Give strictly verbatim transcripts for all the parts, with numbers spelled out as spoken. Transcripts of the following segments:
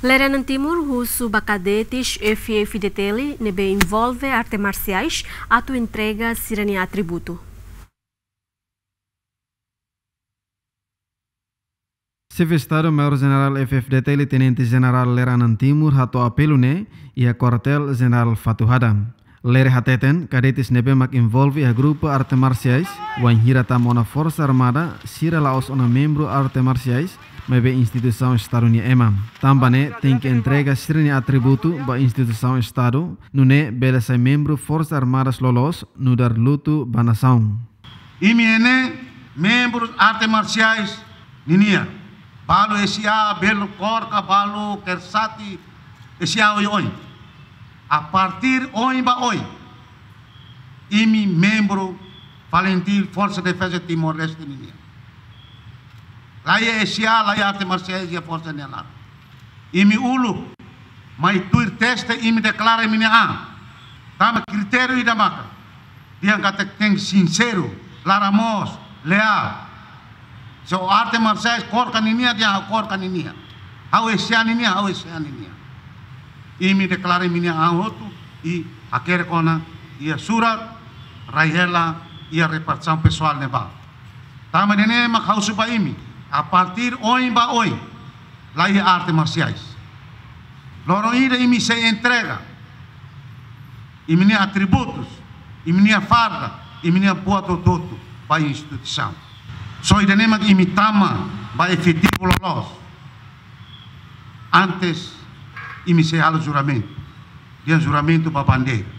Lere Anan Timur husu ba kadetes F-FDTL ne'ebé envolve arte marsiais atu entrega sira-nia atributu. Xefe Estadu Maiór Jenerál F-FDTL Tenente Jenerál Lere Anan Timur hato'o apelu ne'e iha Kuartél Jenerál Fatuhada. Lere hateten, kadetes ne'ebé mak envolve iha grupu arte marsiais, wainhira tama ona Forsa Armada, sira la'ós ona membru arte marsiais, maibé instituisaun Estadu nia ema. Tanba ne'e, tenke entrega sira-nia atributu ba instituisaun Estadu, nune'e bele sai membru Forsa Armadas loloos, nu'udar lutu ba nasaun. Imi ne'e membru arte marsiais ninian. Balu S A, balu KORKA, balu KERSATI, S A oioin. A partir ohin ba oin, imi membru FALINTIL, Forsa Defeza Timor-Leste ninian. La iha S A, la iha arte marsiais, iha forsa nia laran. Imi uluk mai tuir teste, imi deklara imi-nia an. Tanba kritériu ida maka, dehan katak tenke sinseru, laran moos, leál. Se arte marsiais KORKA ninian, dehan ha'u KORKA ninian. Ha'u S A ninian, ha'u S A ninian. Imi deklara imi-nia an hotu, i hakerek ona iha surat, rai hela iha repartisaun pesoál ne'ebá. Tanba ne'e mak ha'u husu ba imi, a partir ohin ba oin, la iha arte marsiais. Loron ida imi sei entrega imi-nia atributus, imi-nia farda, imi-nia buat hotu-hotu ba instituisaun. Só ida-ne'e mak imi tama ba efetivu loloos. Antes, imi sei halo juramentu. Dehan juramentu ba bandeira.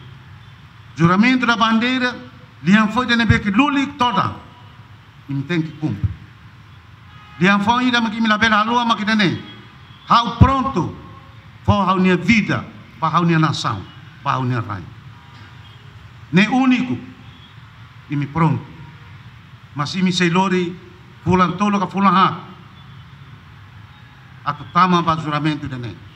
Juramentu da bandeira, liafuan ida ne'ebé ke lulik todan, imi tenke kumpre. Liafuan ida mak imi labele haluha mak ida-ne'e: ha'u prontu fó ha'u-nia vida ba ha'u-nia nasaun, ba ha'u-nia rain. Ne'e úniku, imi prontu. Mas imi sei lori fulan tolu ka fulan haat atu tama ba juramentu ida-ne'e.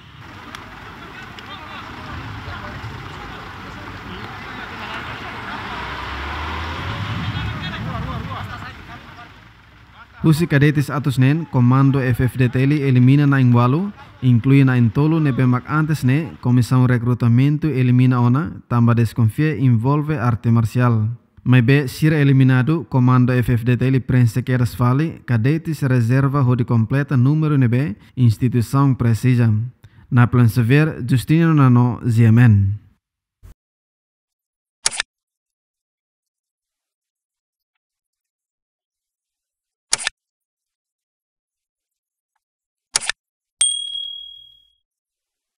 Husi kadetes atus neen, Komandu F-FDTL elimina na'in-ualu, inklui na'in-tolu ne'ebé mak antes ne'e Komisaun Rekrutamentu elimina ona, tanba deskonfia envolve arte marsiál. Maibé sira eliminadu, Komandu F-FDTL prenxe kedas fali kadetes rezerva hodi kompleta númeru ne'ebé instituisaun presiza. Naplan Xavier, Justino Nano, G M N.